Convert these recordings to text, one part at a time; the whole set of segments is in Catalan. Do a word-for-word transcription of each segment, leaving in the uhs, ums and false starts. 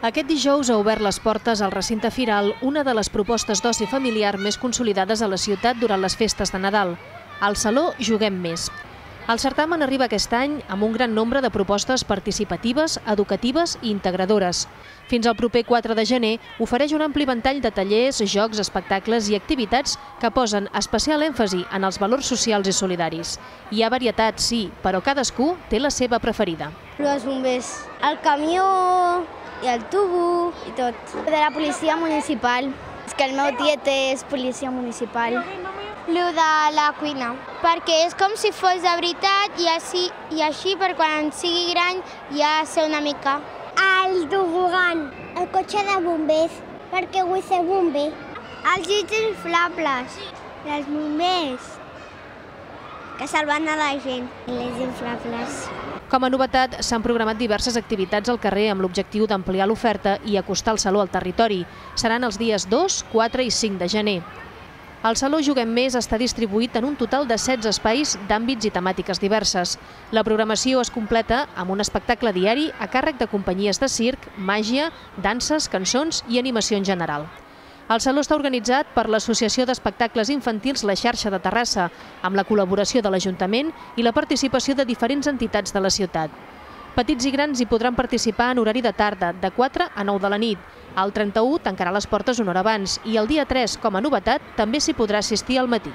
Aquest dijous ha obert les portes al recinte firal una de les propostes d'oci familiar més consolidades a la ciutat durant les festes de Nadal, el Saló Juguem Més. El certamen arriba aquest any amb un gran nombre de propostes participatives, educatives i integradores. Fins al proper quatre de gener ofereix un ampli ventall de tallers, jocs, espectacles i activitats que posen especial èmfasi en els valors socials i solidaris. Hi ha varietat, sí, però cadascú té la seva preferida. Els bombers, el camió i el tubo i tot. De la policia municipal. És que el meu tiet és policia municipal. Lo de la cuina, perquè és com si fos de veritat i així, i així per quan sigui gran ja sé una mica. El tobogan, el cotxe de bombers, perquè vull ser bomber. Els llits inflables, els bombers, que salven a la gent, les inflables. Com a novetat, s'han programat diverses activitats al carrer amb l'objectiu d'ampliar l'oferta i acostar el Saló al territori. Seran els dies dos, quatre i cinc de gener. El Saló Juguem Més està distribuït en un total de setze espais d'àmbits i temàtiques diverses. La programació es completa amb un espectacle diari a càrrec de companyies de circ, màgia, danses, cançons i animació en general. El Saló està organitzat per l'Associació d'Espectacles Infantils La Xarxa de Terrassa, amb la col·laboració de l'Ajuntament i la participació de diferents entitats de la ciutat. Petits i grans hi podran participar en horari de tarda, de quatre a nou de la nit. El trenta-u tancarà les portes una hora abans i el dia tres, com a novetat, també s'hi podrà assistir al matí.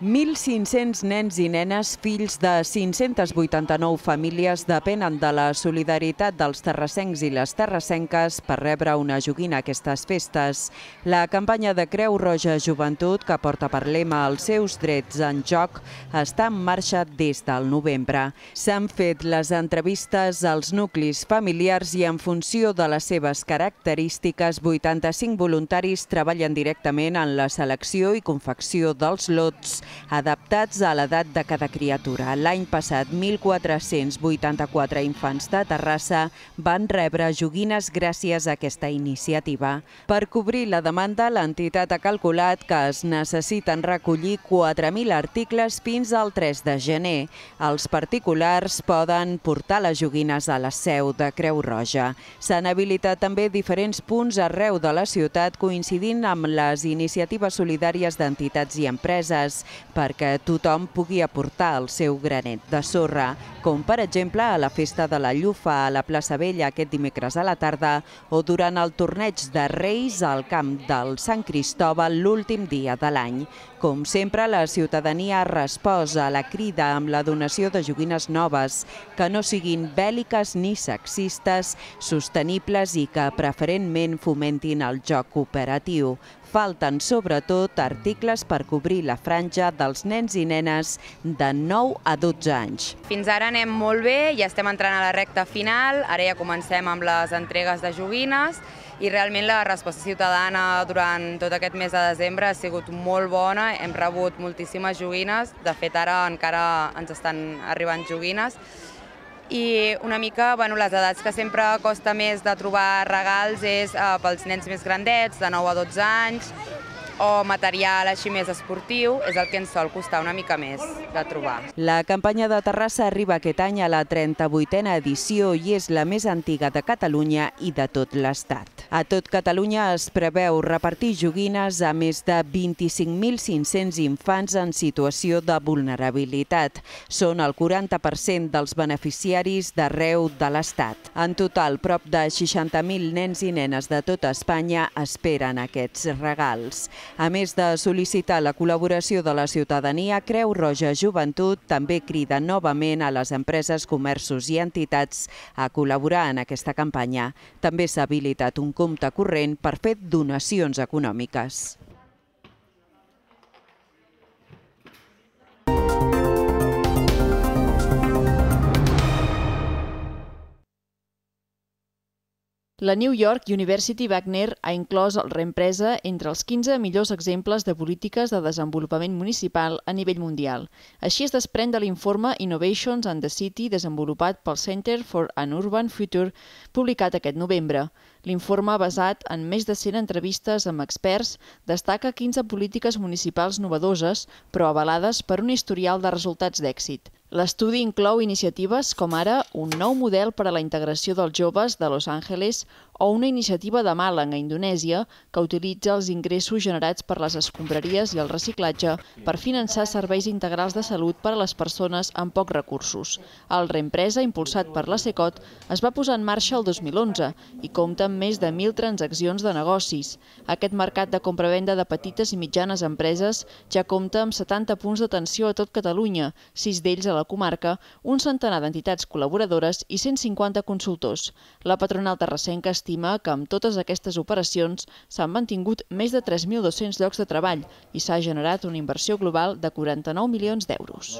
mil cinc-cents nens i nenes, fills de cinc-centes vuitanta-nou famílies, depenen de la solidaritat dels terrassencs i les terrassenques per rebre una joguina a aquestes festes. La campanya de Creu Roja Joventut, que porta per lema els seus drets en joc, està en marxa des del novembre. S'han fet les entrevistes als nuclis familiars i en funció de les seves característiques, vuitanta-cinc voluntaris treballen directament en la selecció i confecció dels lots adaptats a l'edat de cada criatura. L'any passat, mil quatre-cents vuitanta-quatre infants de Terrassa van rebre joguines gràcies a aquesta iniciativa. Per cobrir la demanda, l'entitat ha calculat que es necessiten recollir quatre mil articles fins al tres de gener. Els particulars poden portar les joguines a la seu de Creu Roja. S'han habilitat també diferents punts arreu de la ciutat coincidint amb les iniciatives solidàries d'entitats i empreses, perquè tothom pugui aportar el seu granet de sorra, com per exemple a la Festa de la Llufa a la plaça Vella aquest dimecres a la tarda o durant el torneig de Reis al camp del Sant Cristòbal l'últim dia de l'any. Com sempre, la ciutadania ha respost a la crida amb la donació de joguines noves, que no siguin bèl·liques ni sexistes, sostenibles i que preferentment fomentin el joc cooperatiu. Falten, sobretot, articles per cobrir la franja dels nens i nenes de nou a dotze anys. Fins ara anem molt bé, ja estem entrant a la recta final, ara ja comencem amb les entregues de joguines i realment la resposta ciutadana durant tot aquest mes de desembre ha sigut molt bona, hem rebut moltíssimes joguines, de fet ara encara ens estan arribant joguines. I una mica les edats que sempre costa més de trobar regals és pels nens més grandets, de nou a dotze anys, o material així més esportiu, és el que ens sol costar una mica més de trobar. La campanya de Terrassa arriba aquest any a la trenta-vuitena edició i és la més antiga de Catalunya i de tot l'Estat. A tot Catalunya es preveu repartir joguines a més de vint-i-cinc mil cinc-cents infants en situació de vulnerabilitat. Són el quaranta per cent dels beneficiaris d'arreu de l'Estat. En total, prop de seixanta mil nens i nenes de tota Espanya esperen aquests regals. A més de sol·licitar la col·laboració de la ciutadania, Creu Roja Joventut també crida novament a les empreses, comerços i entitats a col·laborar en aquesta campanya. També s'ha habilitat un compte corrent per fer donacions econòmiques. La New York University Wagner ha inclòs el Reempresa entre els quinze millors exemples de polítiques de desenvolupament municipal a nivell mundial. Així es desprèn de l'informe Innovations and the City desenvolupat pel Center for an Urban Future, publicat aquest novembre. L'informe, basat en més de cent entrevistes amb experts, destaca quinze polítiques municipals novedoses, però avalades per un historial de resultats d'èxit. L'estudi inclou iniciatives com ara un nou model per a la integració dels joves de Los Angeles o una iniciativa de Malang, a Indonèsia, que utilitza els ingressos generats per les escombraries i el reciclatge per finançar serveis integrals de salut per a les persones amb pocs recursos. El Reempresa, impulsat per la Secot, es va posar en marxa el dos mil onze i compta amb més de mil transaccions de negocis. Aquest mercat de compra-venda de petites i mitjanes empreses ja compta amb setanta punts d'atenció a tot Catalunya, sis d'ells a la comarca, un centenar d'entitats col·laboradores i cent cinquanta consultors. La patronal terrassenca estima que amb totes aquestes operacions s'han mantingut més de tres mil dos-cents llocs de treball i s'ha generat una inversió global de quaranta-nou milions d'euros.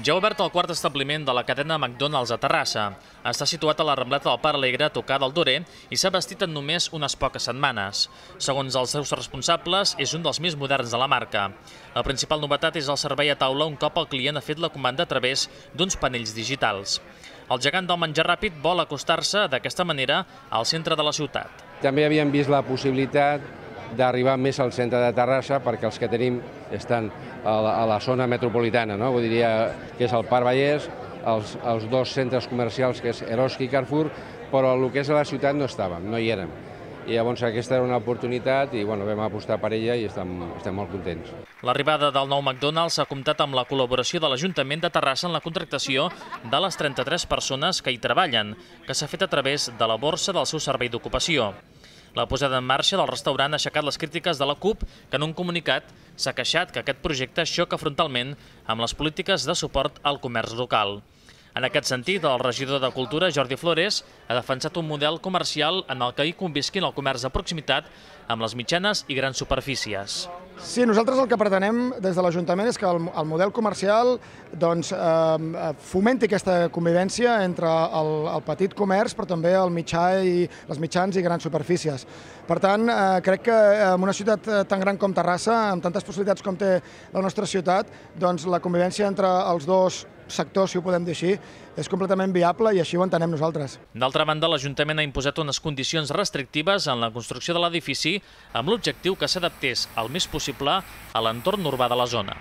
Ja ha obert el quart establiment de la cadena McDonald's a Terrassa. Està situat a la Rambleta del Parc Alegre, a tocar del Dorer, i s'ha bastit en només unes poques setmanes. Segons els seus responsables, és un dels més moderns de la marca. La principal novetat és el servei a taula un cop el client ha fet la comanda a través d'uns panells digitals. El gegant del menjar ràpid vol acostar-se d'aquesta manera al centre de la ciutat. També havíem vist la possibilitat d'arribar més al centre de Terrassa, perquè els que tenim estan a la, a la zona metropolitana, no? Vull dir que és el Parc Vallès, els, els dos centres comercials, que és Eroski i Carrefour, però el que és a la ciutat no estàvem, no hi érem. I llavors aquesta era una oportunitat i bueno, vam apostar per ella i estem, estem molt contents. L'arribada del nou McDonald's ha comptat amb la col·laboració de l'Ajuntament de Terrassa en la contractació de les trenta-tres persones que hi treballen, que s'ha fet a través de la borsa del seu servei d'ocupació. La posada en marxa del restaurant ha aixecat les crítiques de la CUP, que en un comunicat s'ha queixat que aquest projecte xoca frontalment amb les polítiques de suport al comerç local. En aquest sentit, el regidor de Cultura, Jordi Flores, ha defensat un model comercial en el que hi convisquin el comerç de proximitat amb les mitjanes i grans superfícies. Sí, nosaltres el que pretenem des de l'Ajuntament és que el, el model comercial doncs, eh, fomenti aquesta convivència entre el, el petit comerç però també el mitjà i les mitjans i grans superfícies. Per tant, eh, crec que en una ciutat tan gran com Terrassa, amb tantes possibilitats com té la nostra ciutat, doncs la convivència entre els dos sectors, si ho podem dir així, és completament viable i així ho entenem nosaltres. D'altra banda, l'Ajuntament ha imposat unes condicions restrictives en la construcció de l'edifici amb l'objectiu que s'adaptés el més possible a l'entorn urbà de la zona.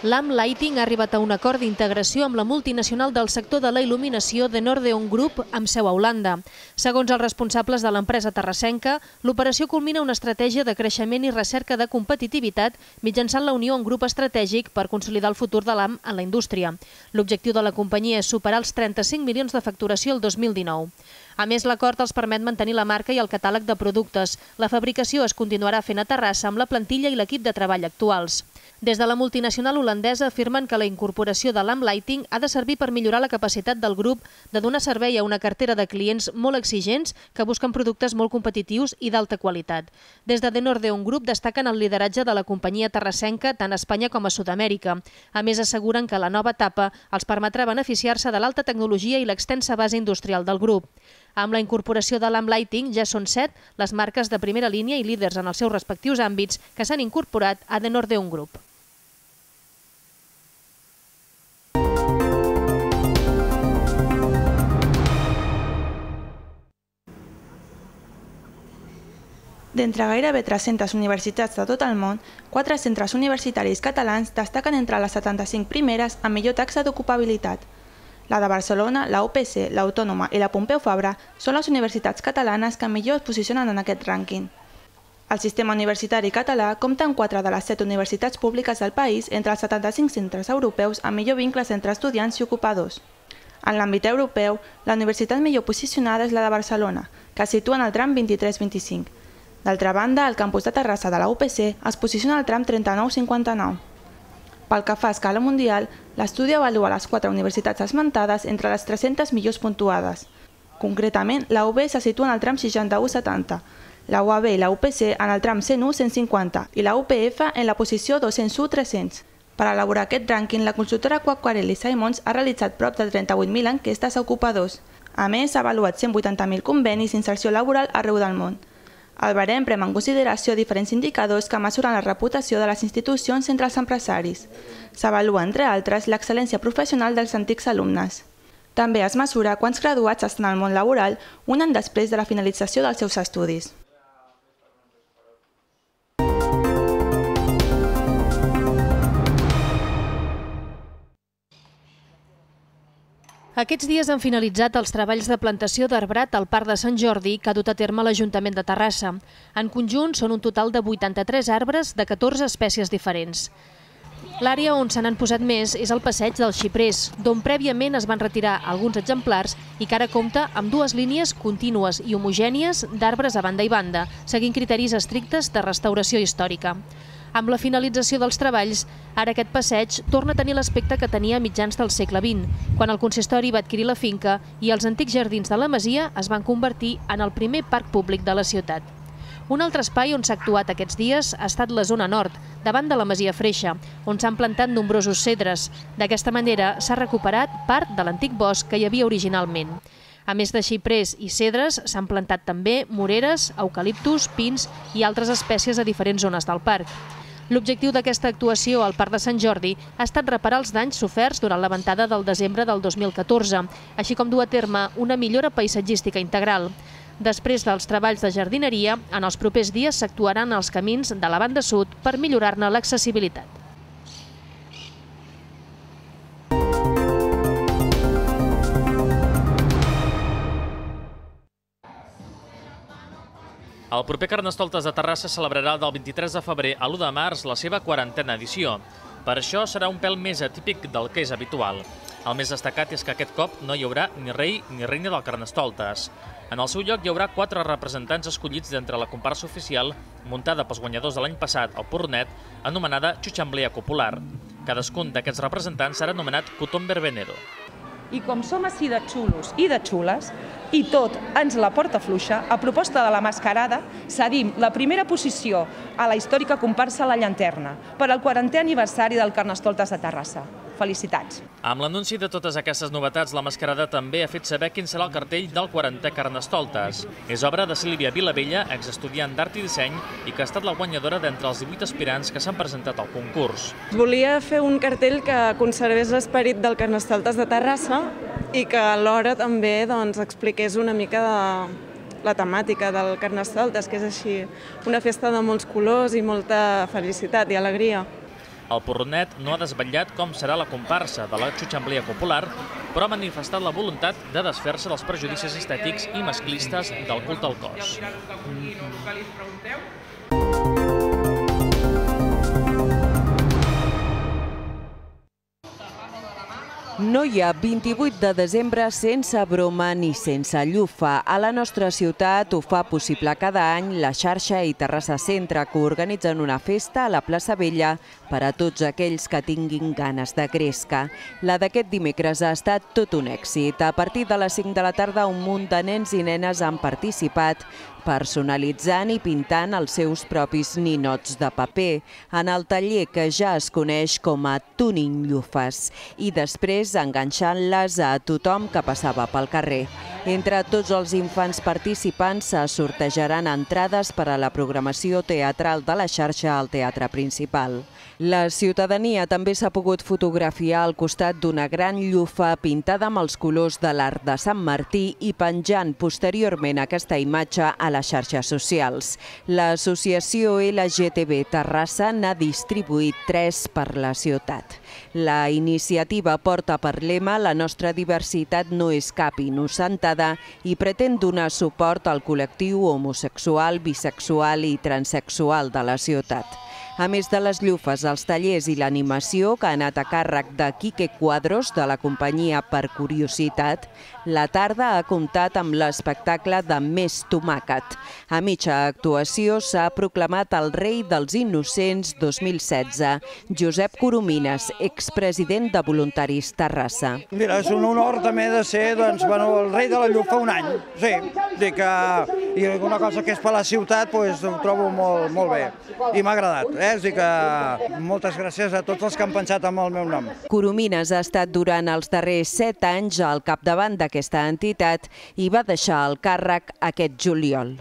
Lamp Lighting ha arribat a un acord d'integració amb la multinacional del sector de la il·luminació de Nordeon Group amb seu a Holanda. Segons els responsables de l'empresa terrassenca, l'operació culmina una estratègia de creixement i recerca de competitivitat mitjançant la unió en grup estratègic per consolidar el futur de Lamp en la indústria. L'objectiu de la companyia és superar els trenta-cinc milions de facturació el dos mil dinou. A més, l'acord els permet mantenir la marca i el catàleg de productes. La fabricació es continuarà fent a Terrassa amb la plantilla i l'equip de treball actuals. Des de la multinacional holandesa afirmen que la incorporació de Lamp Lighting ha de servir per millorar la capacitat del grup de donar servei a una cartera de clients molt exigents que busquen productes molt competitius i d'alta qualitat. Des de The Nordeon Group destaquen el lideratge de la companyia terrassenca tant a Espanya com a Sud-amèrica. A més, asseguren que la nova etapa els permetrà beneficiar-se de l'alta tecnologia i l'extensa base industrial del grup. Amb la incorporació de Lamp Lighting ja són set les marques de primera línia i líders en els seus respectius àmbits que s'han incorporat a The Nordeon Group. D'entre gairebé tres-centes universitats de tot el món, quatre centres universitaris catalans destaquen entre les setanta-cinc primeres amb millor taxa d'ocupabilitat. La de Barcelona, la U P C, l'Autònoma i la Pompeu Fabra són les universitats catalanes que millor es posicionen en aquest rànquing. El sistema universitari català compta amb quatre de les set universitats públiques del país entre els setanta-cinc centres europeus amb millor vincles entre estudiants i ocupadors. En l'àmbit europeu, la universitat millor posicionada és la de Barcelona, que es situa en el tram vint-i-tres vint-i-cinc. D'altra banda, el campus de Terrassa de la U P C es posiciona al tram trenta-nou cinquanta-nou. Pel que fa a escala mundial, l'estudi avalua les quatre universitats esmentades entre les tres-centes millors puntuades. Concretament, la U B se situa en el tram seixanta-u setanta, la U A B i la U P C en el tram cent u cent cinquanta i la U P F en la posició dos-cents u tres-cents. Per elaborar aquest rànquing, la consultora Quacquarelli Simons ha realitzat prop de trenta-vuit mil enquestes a ocupadors. A més, ha avaluat cent vuitanta mil convenis d'inserció laboral arreu del món. El barem pren en consideració diferents indicadors que mesuren la reputació de les institucions entre els empresaris. S'avalua, entre altres, l'excel·lència professional dels antics alumnes. També es mesura quants graduats estan al món laboral un any després de la finalització dels seus estudis. Aquests dies han finalitzat els treballs de plantació d'arbrat al Parc de Sant Jordi que ha dut a terme l'Ajuntament de Terrassa. En conjunt són un total de vuitanta-tres arbres de catorze espècies diferents. L'àrea on se n'han posat més és el passeig dels xiprers, d'on prèviament es van retirar alguns exemplars i que ara compta amb dues línies contínues i homogènies d'arbres a banda i banda, seguint criteris estrictes de restauració històrica. Amb la finalització dels treballs, ara aquest passeig torna a tenir l'aspecte que tenia a mitjans del segle vint, quan el consistori va adquirir la finca i els antics jardins de la masia es van convertir en el primer parc públic de la ciutat. Un altre espai on s'ha actuat aquests dies ha estat la zona nord, davant de la masia Freixa, on s'han plantat nombrosos cedres. D'aquesta manera s'ha recuperat part de l'antic bosc que hi havia originalment. A més de xiprers i cedres, s'han plantat també moreres, eucaliptus, pins i altres espècies a diferents zones del parc. L'objectiu d'aquesta actuació al Parc de Sant Jordi ha estat reparar els danys soferts durant la ventada del desembre del dos mil catorze, així com dur a terme una millora paisatgística integral. Després dels treballs de jardineria, en els propers dies s'actuaran als camins de la banda sud per millorar-ne l'accessibilitat. El proper Carnestoltes de Terrassa celebrarà del vint-i-tres de febrer a l'u de març la seva quarantena edició. Per això serà un pèl més atípic del que és habitual. El més destacat és que aquest cop no hi haurà ni rei ni reina del Carnestoltes. En el seu lloc hi haurà quatre representants escollits d'entre la comparsa oficial, muntada pels guanyadors de l'any passat al Porronet, anomenada Xuxamblea Popular. Cadascun d'aquests representants serà anomenat Cotón Verbenero. I com som així de xulos i de xules, i tot ens la porta fluixa, a proposta de la mascarada, cedim la primera posició a la històrica comparsa La Llanterna per al quarantè aniversari del Carnestoltes de Terrassa. Felicitats! Amb l'anunci de totes aquestes novetats, la mascarada també ha fet saber quin serà el cartell del quarantè Carnestoltes. És obra de Sílvia Vilavella, exestudiant d'Art i Disseny, i que ha estat la guanyadora d'entre els divuit aspirants que s'han presentat al concurs. Volia fer un cartell que conservés l'esperit del Carnestoltes de Terrassa i que alhora també doncs, expliqués una mica de la temàtica del Carnestoltes, que és així una festa de molts colors i molta felicitat i alegria. El Porronet no ha desvetllat com serà la comparsa de la Xuxamblea Popular, però ha manifestat la voluntat de desfer-se dels prejudicis estètics i masclistes del culte al cos. No hi ha vint-i-vuit de desembre sense broma ni sense llufa. A la nostra ciutat ho fa possible cada any la xarxa i Terrassa Centre, que organitzen una festa a la plaça Vella per a tots aquells que tinguin ganes de gresca. La d'aquest dimecres ha estat tot un èxit. A partir de les cinc de la tarda, un munt de nens i nenes han participat personalitzant i pintant els seus propis ninots de paper en el taller que ja es coneix com a Tuning Llufes i després enganxant-les a tothom que passava pel carrer. Entre tots els infants participants se sortejaran entrades per a la programació teatral de la xarxa al Teatre Principal. La ciutadania també s'ha pogut fotografiar al costat d'una gran llufa pintada amb els colors de l'Arc de Sant Martí i penjant posteriorment aquesta imatge a les xarxes socials. L'associació L G T B Terrassa n'ha distribuït tres per la ciutat. La iniciativa porta per lema "La nostra diversitat no és cap innocentada" i pretén donar suport al col·lectiu homosexual, bisexual i transexual de la ciutat. A més de les llufes, els tallers i l'animació, que ha anat a càrrec de Quique Cuadros, de la companyia Per Curiositat, la tarda ha comptat amb l'espectacle de Més Tomàquet. A mitja actuació s'ha proclamat el rei dels innocents dos mil setze, Josep Coromines, expresident de Voluntaris Terrassa. Mira, és un honor també de ser doncs, bueno, el rei de la llufa un any. Sí, dic que, i una cosa que és per la ciutat doncs, ho trobo molt, molt bé i m'ha agradat. Eh? És dir que moltes gràcies a tots els que han pensat en el meu nom. Coromines ha estat durant els darrers set anys al capdavant d'aquesta entitat i va deixar el càrrec aquest juliol.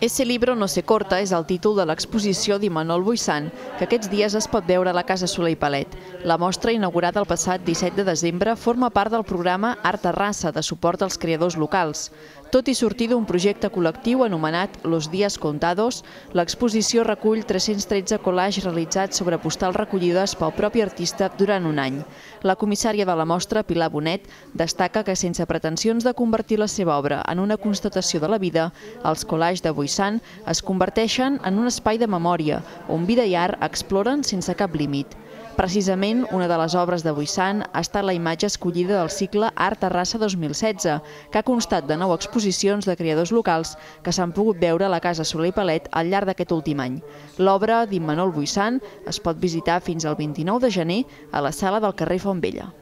Ese libro no se corta és el títol de l'exposició d'Imanol Buisan, que aquests dies es pot veure a la Casa Soler i Palet. La mostra, inaugurada el passat disset de desembre, forma part del programa Art Terrassa, de suport als creadors locals. Tot i sortir d'un projecte col·lectiu anomenat Los Días Contados, l'exposició recull tres-cents tretze collages realitzats sobre postals recollides pel propi artista durant un any. La comissària de la mostra, Pilar Bonet, destaca que sense pretensions de convertir la seva obra en una constatació de la vida, els collages de Buisan es converteixen en un espai de memòria on vida i art exploren sense cap límit. Precisament, una de les obres de Buisan ha estat la imatge escollida del cicle Art Terrassa dos mil setze, que ha constat de nou exposicions de creadors locals que s'han pogut veure a la Casa Soler i Palet al llarg d'aquest últim any. L'obra d'Imanol Buisan es pot visitar fins al vint-i-nou de gener a la sala del carrer Font Vella.